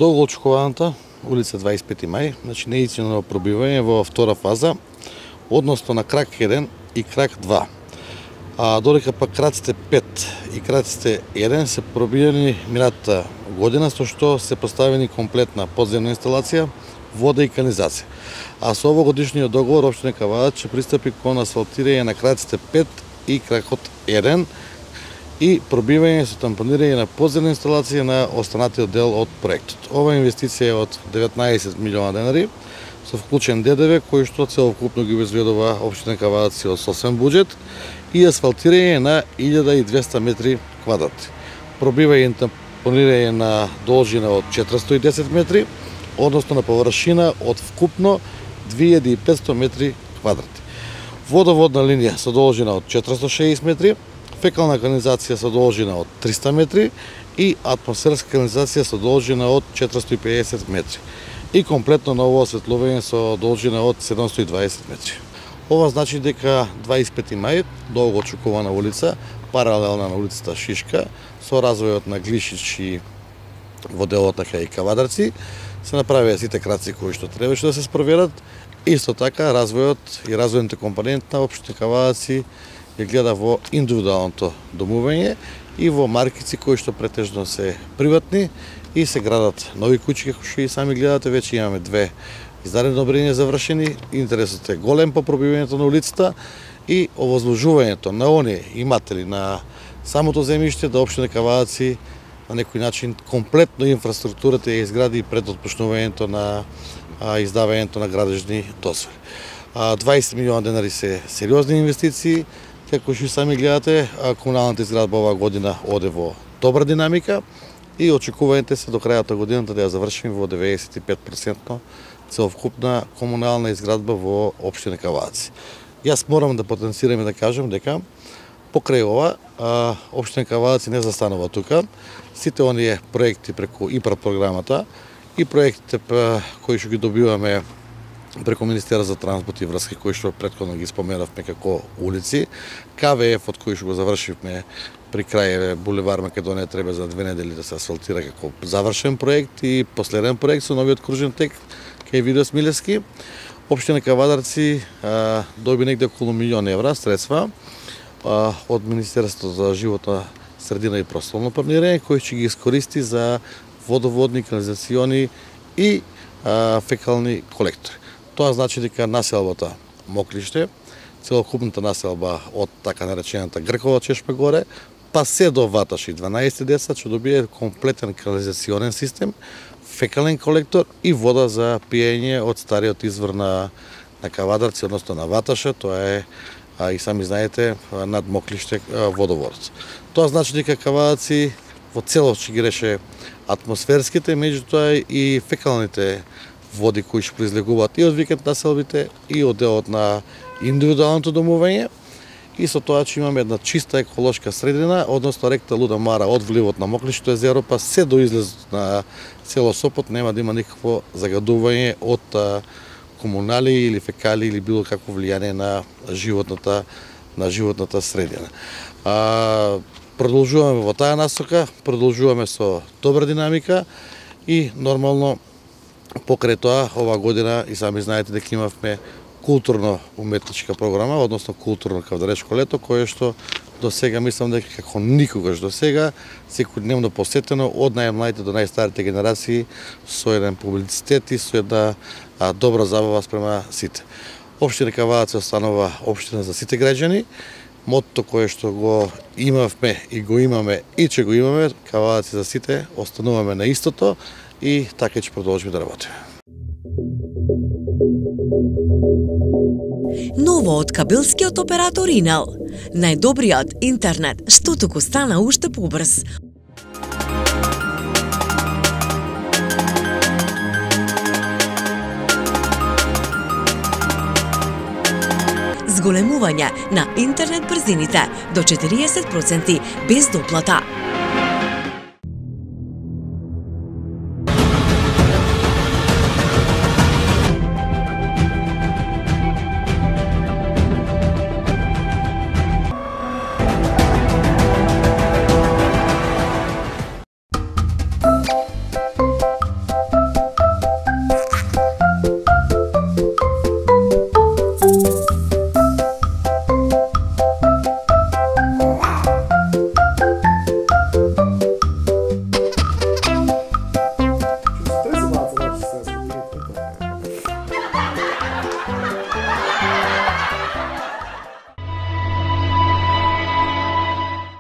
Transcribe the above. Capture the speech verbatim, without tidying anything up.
долго очекуваната улица дваесет и пети мај, значи неиницијално пробивање во втора фаза, односно на крак еден и крак два. А додека пак краците пет и краците еден се пробиени минатата година, со што се поставени комплетна подземна инсталација, вода и канализација. А со овогодишниот договор општина Кавадар ќе пристапи кон асфалтирање на краците пет и кракот еден и пробивање со тампонирање на подземна инсталација на останатиот дел од проектот. Ова инвестиција е од деветнаесет милиона денари, со вклучен Д Д В, кој што целокупно ги обезбедува општина Кавадар од собствен буџет и асфалтирање на илјада и двесте метри квадратни. Пробивање и тампонирање на должина од четиристо и десет метри, односно на површина од вкупно две илјади и петсто метри квадратни. Водоводна линија со должина од четиристо и шеесет метри, фекална канализација со должина од триста метри и атмосферска канализација со должина од четиристо и педесет метри. И комплетно ново осветлување со должина од седумстотини и дваесет метри. Ова значи дека дваесет и пети мај, долго очекувана улица, паралелна на улицата Шишка, со развојот на Глишич и во делот на Кај Кавадарци, се направија сите краци кои што требаше да се спроведат. Исто така, развојот и развојните компоненти на општина Кавадарци ја гледа во индивидуалното домување и во маркици кои што претежно се приватни и се градат нови куќи, како што и сами гледате, веќе имаме две издадени одобренија завршени. Интересот е голем по пробивањето на улицата и овозможувањето на оние иматели на самото земјиште да општина Кавадарци на некој начин комплетно инфраструктурата ја изгради пред отпочнувањето на а, издавањето на градежни дозволи. дваесет милиона денари се сериозни инвестиции, како што сами гледате, комуналната изградба оваа година оде во добра динамика и очекувањето се до крајот на годината да ја завршиме во деветдесет и пет проценти целокупна комунална изградба во општина Кавадарци. Јас морам да потенцирам и да кажам дека покрај ова, општина Кавадарци не застанува тука. Сите оние проекти преку ИПАР програмата и проектите кои што ги добиваме преку Министерство за транспорт и врски, кои што претходно ги споменавме како улици, К В Ф од кој што го завршивме при крај булевар Македонија треба за две недели да се асфалтира како завршен проект и последен проект со новиот кружен тек кај Видо Смилевски. Општина Кавадарци а, доби негде околу милион евра средства а, од Министерството за животна средина и просторно планирање, кој ќе ги искористи за водоводни, канализациони и а, фекални колектори. Тоа значи дека населбата Моклиште, целокупната населба од така наречената Гркова Чешма горе, па се до Ваташи дванаесет деца ќе добие комплетен канализационен систем, фекален колектор и вода за пиење од стариот извор на, на Кавадарци, односно на Ваташа, тоа е, а, и сами знаете, над Моклиште водоводот. Тоа значи дека Кавадарци во целост ќе ги реше атмосферските, меѓутоа и фекалните води кои што произлегуваат и од викенд населбите и од делот на индивидуалното домување. И со тоа че имаме една чиста еколошка средина, односно реката Луда Мара од вливот на Моклишто езеро па се до излезот на село Сопот нема да има никакво загадување од комунали или фекали или било какво влијание на животната на животната средина. А, продолжуваме во таа насока, продолжуваме со добра динамика и нормално покрај тоа ова година и сами знаете дека имавме културно-уметничка програма, односно културно кавадаречко лето, кое што до сега мислам дека како никогаш до сега секојдневно посетено од најмладите до најстарите генерации со еден публицитет и со една а, добра забава спрема сите. Општина Кавадарци останува општина за сите граѓани. Мотото кое што го имавме и го имаме и че го имаме, Кавадарци за сите, остануваме на истото и така ќе продолжиме да работиме. Ново од кабелскиот оператор Инел. Најдобриот интернет, што туку стана уште побрз. Зголемување на интернет брзините до четириесет проценти без доплата.